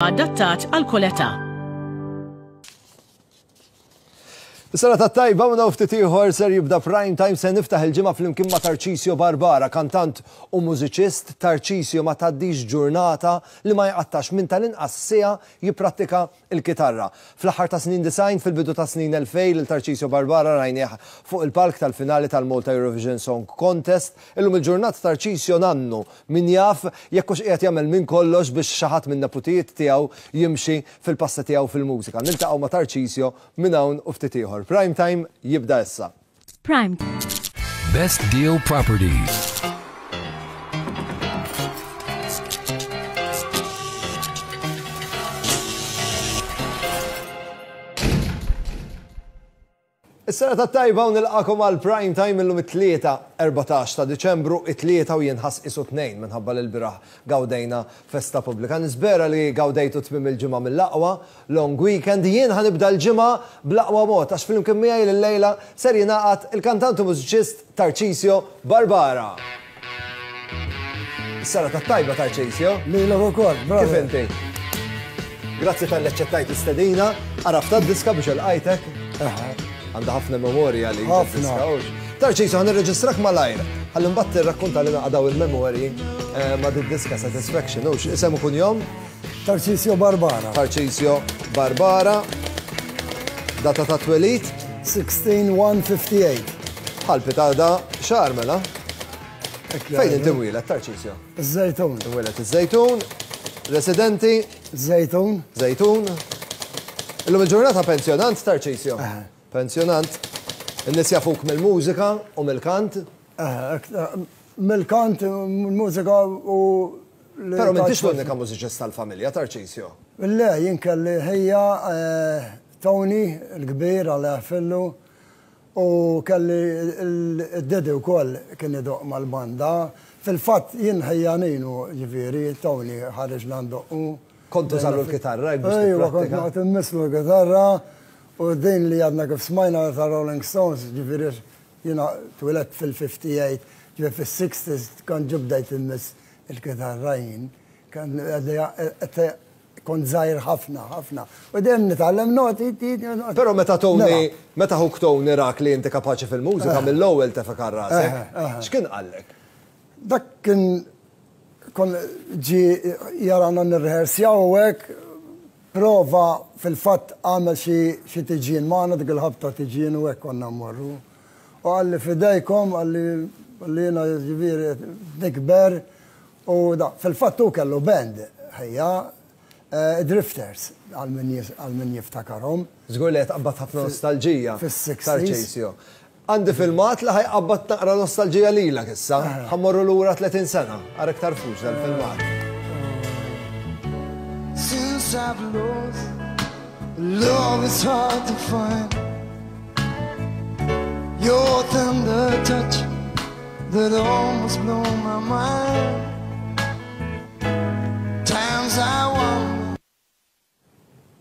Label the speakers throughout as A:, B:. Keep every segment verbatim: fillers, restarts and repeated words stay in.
A: huwa adattat għal kull età.
B: Is-sena tat-tajba minn hawn ftit ieħor ser jibda Prime Time se niftaħ il-ġimgħa flimkien ma' Tarcisio Barbara, kantant u mużiċist. Tarcisio ma tgħaddix ġurnata li ma jqattax minn tal-inqas siegħa jipprattika l-kitarra. Fl-aħħar ta' snin disgħin, fil-bidu ta' snin elfejn lil Tarcisio Barbara rajnieh fuq il-palk tal-finali tal-Malta Eurovision Song Contest. Illum il-ġurnata Tarcisio nannu, min jaf jekk hux qiegħed jagħmel minn kollox biex xi ħadd minn neputijiet tiegħu jimxi fil-passa tiegħu fil-mużika. Niltaqgħu ma' Tarcisio minn hawn u ftit ieħor. Prime Time jibda issa.
A: Prime.
C: Best Deal Properties.
B: Is-sena tat-tajba u nilqakom għal Prime Time illum it-tlieta erbatax ta' Diċembru, it-tlieta u jinħass isu tnejn minħabba li l-biraħ gawdejna festa pubblika. Nispera li gawdejtu tmiem il-ġimgħa mill-aqwa, long weekend. Jien ħanibda l-ġimgħa bl-aqwa mod għax flimkien miegħi lil-lejla ser jingħaqad il-kantant u mużiċist Tarcisio Barbara. Is-sena tat-tajba Tarcisio.
D: Lilek ukoll, bravo.
B: Kif inti? Grazzi tal-li aċċettajt l-istedina, għarafta d-diska biex il-qajtek. Għandha ħafna memorja li
D: Ħafna.
B: Tarcisio, ħa nirreġistrak malajr. Ħalli mbagħad tirrakkonta lilna daw il-memorji ma' di-diska Satisfaction. Hux isem u kunjom?
D: Tarcisio Barbara.
B: Tarcisio Barbara. Data ta' twelid?
D: sixteen one fifty-eight.
B: Bħal pitada xahar mela.
D: Hekk
B: Fejn
D: jgħidu.
B: inti mwieled, Tarcisio?
D: Iż-Żejtun.
B: Imwieled iż-Żejtun. Residenti?
D: Żejtun.
B: Żejtun. Illum il-ġurnata pensjonant, Tarcisio?
D: Aha.
B: Pensjonant. In-nies jafuk mill-mużika u mill-kant.
D: Mill-kant, mill-mużika u li
B: Però m'intix
D: tajt
B: l-unika mużiċist tal-familja, Tarcisio.
D: Le, jien kelli ħija, eh, Tony, il-kbir, għal fillu, u kelli il-dedi wkoll kien idoq mal-banda. Fil-fatt jien ħija Ninu, ġifieri, Tony ħareġna ndoqqu.
B: Kontu żallu l-kitarra, jekk biex
D: Ejwa, kont
B: tipprattika.
D: noqgħod immislu l-kitarra. U din li għadna kif smajna ta' Rolling Stones, ġifieri jiena twiledt fil-fifty-eight, ġifieri fis-sixties kont ġibdejt immiss il-kitarra jien. Kan kont żgħir ħafna, ħafna. U dejjem nitgħallem noti, ti, ti, noti.
B: Però meta Tony,
D: Mela.
B: meta ħuk Tony rak li inti kapaċi fil-mużika,
D: Eh.
B: mill-ewwel tefek għal rasek.
D: Eh, eh.
B: X'kien qallek?
D: Dak kien kon ġi jarana nirrehersjaw u hekk, prova fil-fatt għamel xi, xi tiġin magħna dik il-ħabta tiġin u hekk konna mmorru. U qalli fidejkom, qalli qalli jiena ġifieri nikber u da, fil-fatt hu kellu band ħejja, eh, Drifters għal min jis-, għal min jiftakarhom.
B: Żgur li qed tqabbad ħafna nostalġija.
D: Fis-sixties.
B: Tarcisio. Għandi filmat li ħajqabbad naqra nostalġija lilek issa.
D: Eh.
B: Ħammorru lura tletin sena, ara iktar fux dal-filmat.
E: Since I've lost, love is hard to find. Your tender touch that almost blew my mind. Times I wonder.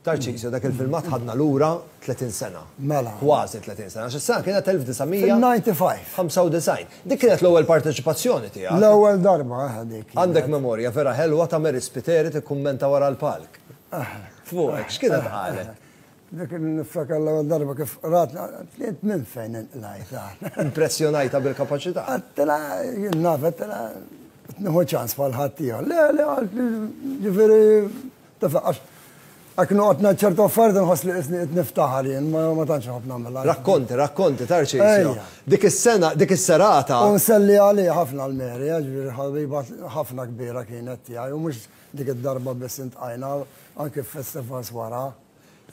B: Tarcisio, dak il-filmat ħadna lura tletin sena.
D: Mela.
B: Kważi tletin sena. Għax is-sena kienet elf disa' mija
D: Fil-ninety-five.
B: ħamsa u disgħin. Dik kienet l-ewwel parteċipazzjoni tiegħek.
D: L-ewwel darba, eh, dik kienet.
B: Għandek memorja vera ħelwa ta' Mary Spiteri tikkummenta wara l-palk.
D: Eh.
B: Fuqek, x'kienet
D: Eh.
B: qalet?
D: Dik niftakar l-ewwel darba kif ratna, tliet minn fejn inqlajt.
B: Impressjonajta bil-kapaċità.
D: Għedtilha, jien naf, għedtilha, nieħu ċans bħal ħadd ieħor. Le, le, għalt li, ġifieri, tafaq, għax Għak noqgħod ngħid ċertu affarijiet nħoss li qisni qed niftaħar jien, ma, ma tantx nħobb nagħmilha.
B: Rakkonti, rakkonti, Tarcisio.
D: Ejja.
B: Dik is-sena, dik is-serata.
D: U nselli għalija ħafna l-Mary, ġifieri ħabiba ħafna kbira kienet tiegħi, u mhux dik id-darba biss intqajna, anke f'festivals wara.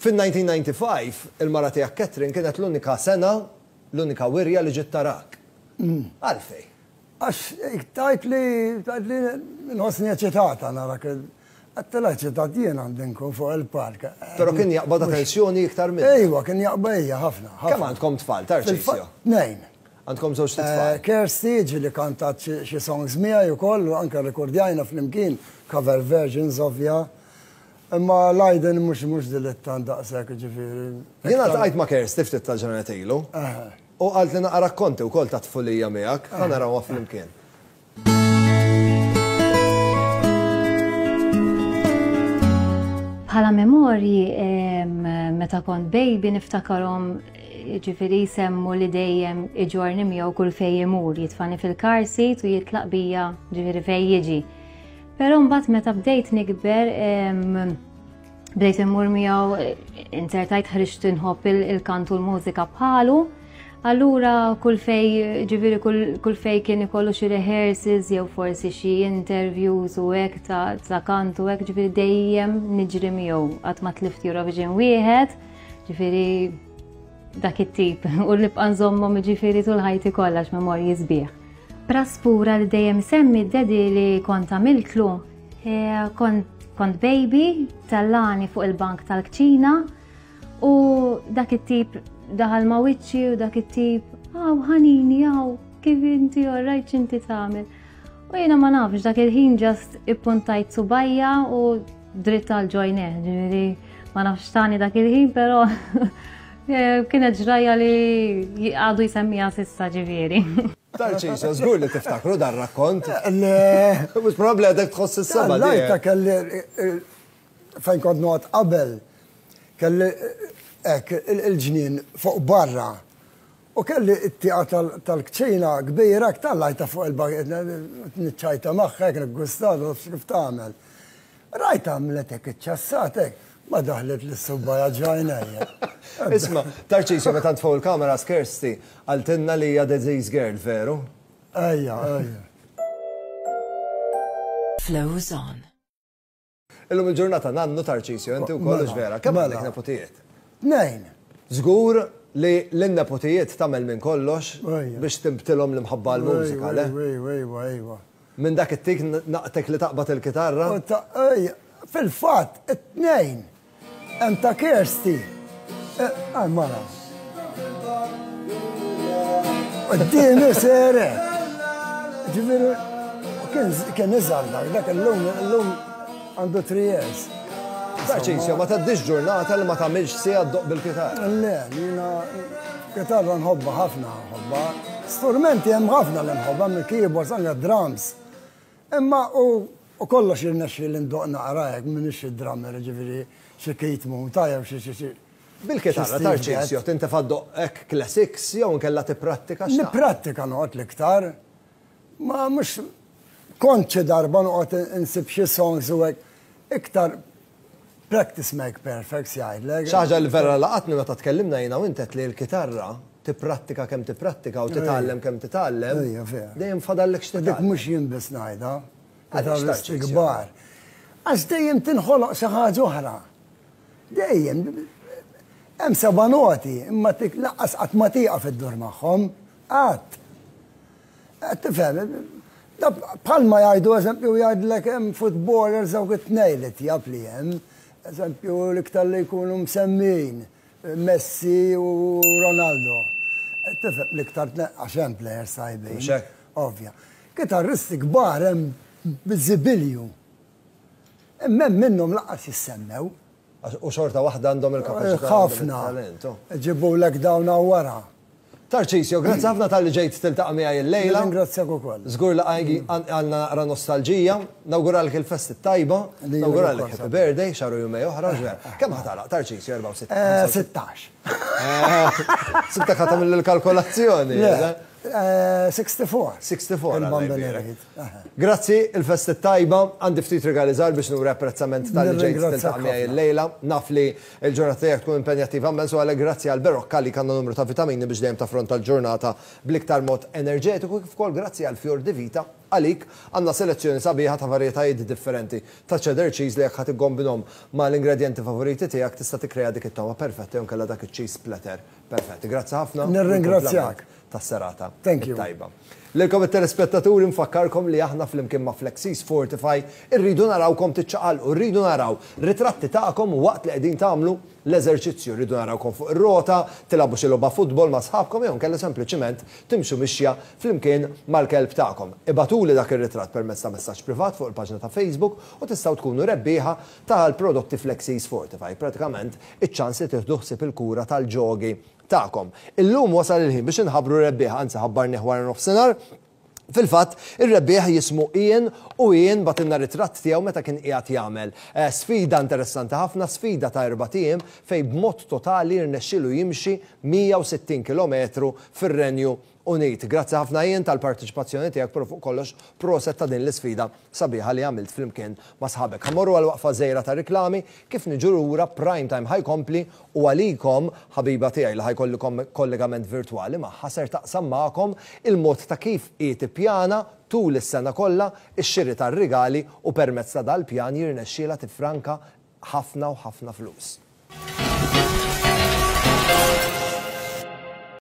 B: Fin-nineteen ninety-five, il-mara tiegħek Catherine kienet l-unika sena, l-unika wirja li ġiet tarak.
D: Mm.
B: Għalfej?
D: Għax tajt li, tajt li nħossni eċitata narak. Għedtilha eċitat jien għandi nkun fuq il-park.
B: Però kien jaqbad attenzjoni iktar minn.
D: Ejwa, kien jaqbad hija ħafna, ħafna.
B: Kemm għandkom tfal, Tarcisio?
D: Fil-fatt, tnejn.
B: Għandkom żewġ tfal.
D: Eh, Kirsty, ġieli kantat xi, xi songs miegħi wkoll, u anke rekordjajna flimkien cover versions ovvja. Imma Leiden mhux, mhux dilettant daqshekk, ġifieri.
B: Jiena ltqajt ma' Kirsty ftit tal-ġranet ilu.
D: Aha.
B: U qalt li naqra rakkonti wkoll ta' tfulija miegħek, ħa narawha flimkien.
F: Bħala memorji, meta kont baby niftakarhom, ġifieri semmu li dejjem iġorni miegħu kull fejn imur, jitfani fil-car seat u jitlaq bija ġifieri fejn jiġi. Però mbagħad meta bdejt nikber, bdejt immur miegħu, inzertajt ħriġt inħobb il-kant u l-mużika bħalu. Allura kull fej, ġifieri kull fej kien ikollu xi rehearsals jew forsi xi interviews u hekk ta' kant u hekk, ġifieri dejjem niġri miegħu, qatt ma tlift Eurovision wieħed, ġifieri dak it-tip u nibqa' nżommhom ġifieri tul ħajti kollha memorji sbieħ. Praspura li dejjem semmi d-daddy li kont għamiltlu, kont kont baby, tellani fuq il-bank tal-kċina u dak it-tip daħal ma' wiċċi u dak it-tip, "Aw ħanini, aw, kif inti, alright, x'inti tagħmel?" U jiena ma nafx, dak il-ħin just ippuntajt subgħajja u dritt għal ġo għajnejh, ġifieri ma nafx tani dak il-ħin, però kienet ġraja li għadu jsemmiha s'issa ġifieri.
B: Tarċisio, żgur li tiftakru dar rakkont.
D: Le.
B: Mhux probabbli għadek tħoss is-seba'.
D: Lajta kelli fejn kont noqgħod qabel, kelli hekk il-ġnien fuq barra. U kelli it-tieqa tal-kċina kbira, tellajtha fuq il-bank, niċċajta magħha, niggustat, kif tagħmel. Rajta għamlet hekk iċċassatek, ma daħlet lis-subgħajja ġo għajnejja.
B: Isma', Tarċisio, meta fuq il-kamera Kirsty, qaltilna li hija Disease Girl, veru?
D: Ejja, ejja.
A: Flows on.
B: Illum il-ġurnata nannu, Tarċisio, inti wkoll,
D: Mela,
B: vera. Kemm
D: mela.
B: għandek nepotijiet?
D: Tnejn.
B: Żgur li l-nepotijiet tagħmel minn kollox
D: Ejja.
B: biex tinbtilhom l-imħabba l-mużika, le?
D: Ejwa, ejwa, ejwa.
B: Minn dak it-tik naqtek li taqbad il-kitarra?
D: U ta' ejja, fil-fatt, it-tnejn. Hemm ta' Kirsty. Għaj, mara. Quddiemi sere. Ġifieri, kien kien iżgħar dak, dak illum, illum għandu three years.
B: Tarċisio, ma tgħaddix ġurnata li ma tagħmilx siegħa ddoqq bil-kitarra.
D: Le, jiena kitarra nħobba ħafna, nħobba. Strumenti hemm ħafna li nħobba, mill keyboards anke drums. Imma u u kollox jirnexxi li ndoqq naqra hekk, m'iniex drummer, ġifieri xi Keith Moon, tajjeb xi xi xi.
B: Bil-kitarra,
D: xi Steve
B: Tarċisio,
D: Gadd.
B: tintefa' ddoqq hekk classics jew nkella tipprattika x'tagħmel?
D: Nipprattika noqgħod l-iktar. Ma mhux kont xi darba noqgħod insib xi songs u hekk, iktar practice make perfect jgħidlek.
B: Xi ħaġa li vera laqatni meta tkellimna jiena u intet li l-kitarra tipprattika kemm tipprattika u titgħallem kemm titgħallem.
D: Ejja, vera.
B: Dejjem fadallek
D: Dik
B: x'titgħallem.
D: mhux jien biss ngħidha.
B: Għaliex,
D: Kitarristi
B: Tarċisio?
D: kbar. Għax dejjem tinħoloq xi ħaġa oħra. Dejjem. Hemm seba' noti, imma tik lanqas qatt ma tieqaf iddur magħhom. Qatt. Qed tifhem, da bħalma jgħidu, eżempju, jgħidlek hemm footballers dawk it-tnejn li tjab li hemm, eżempju, l-iktar li jkunu msemmin, Messi u Ronaldo. Qed tifhem, l-iktar għax hemm players tajbin.
B: Mhux hekk?
D: Ovvja. Kitarristi kbar hemm biżibilju. Imma hemm minnhom lanqas jissemmew.
B: U xorta waħda għandhom il-kapaċità.
D: Ħafna.
B: Talent. oh.
D: Ġibulek dawn wara.
B: Tarċisio, grazzi ħafna talli ġejt tiltaqa' miegħi illejla.
D: Ringrazzjak ukoll.
B: Żgur li għajgi għandna naqra nostalġija, nawguralek il-festi tajba,
D: Lilek
B: nawguralek
D: ukoll,
B: happy birthday, xahar u jumejn oħra, ġver. Kemm ħa tagħlaq, Tarċisio, erbgħa u sittin?
D: Eh, sittax.
B: Sibtek ħa tagħmel il-kalkolazzjoni.
D: Le, eh, sixty-four.
B: sixty-four.
D: Il-bambin
B: Alla jbierek.
D: irrid. Aha.
B: Grazzi, il-festi tajba, għandi ftit rigali żgħar biex nuri apprezzament talli ġejt
D: Nirringrazzjak
B: tiltaqa' miegħi
D: ħafna.
B: illejla. Naf li l-ġurnata tiegħek tkun impenjattiva immens u għalhekk grazzi għal Berocca li għandna numru ta' vitamini biex dejjem taffronta l-ġurnata bl-iktar mod enerġetiku, kif ukoll grazzi għal Fior di Vita, għalik għandna selezzjoni sabiħa ta' varjetajiet differenti ta' cheddar cheese li jekk ħa tikkombinahom ma' l-ingredienti favoriti tiegħek tista' tikkrea dik it-toma perfetta jew inkella dak iċ-cheese platter perfetti. Grazzi ħafna.
D: Nirringrazzjak.
B: Tas-serata.
D: Thank you.
B: Tajba. Lilkom it-telespettaturi nfakkarkom li aħna flimkien ma' Flexis Fortify irridu narawkom tiċċaqalqu, rridu naraw ritratti tagħkom waqt li qegħdin tagħmlu l-eżerċizzju, rridu narawkom fuq ir-rota, tilagħbu xi logħba futbol ma' sħabkom jew inkella sempliċiment timxu mixja flimkien mal-kelb tagħkom. Ibagħtuli dak ir-ritratt permezz ta' messaġġ privat fuq il-paġna ta' Facebook u tistgħu tkunu rebbieħa tal-prodotti Flexis Fortify. Pratikament iċ-ċans li tieħdu ħsieb il-kura tal-ġogi tagħkom. Illum wasal il-ħin biex inħabbru rebbieħa, anzi ħabbarni wara nofsinhar. Fil-fatt, ir-rebbieħ jismu Ian u Ian bagħtilna ritratt tiegħu meta kien qiegħed jagħmel eh, sfida interessanti ħafna, sfida ta' erbat ijiem fejn b'mod totali rnexxielu jimxi mija u sittin kilometru fir-Renju Unit. Grazzi ħafna, Ian, tal-partiċipazzjoni tiegħek, però fuq kollox proset ta' din l-isfida sabiħa li għamilt flimkien ma' sħabek. Ħa mmorru għal waqfa żgħira ta' riklami. Kif niġu lura, Prime Time ħa jkompli u għalikom ħabiba tiegħi li ħa jkolli kollegament virtuali magħha ser taqsam magħkom il-mod ta' kif hi tippjana tul is-sena kollha ix-xiri tar-rigali u permezz ta' dal-pjan jirnexxiela tifranka ħafna u ħafna flus.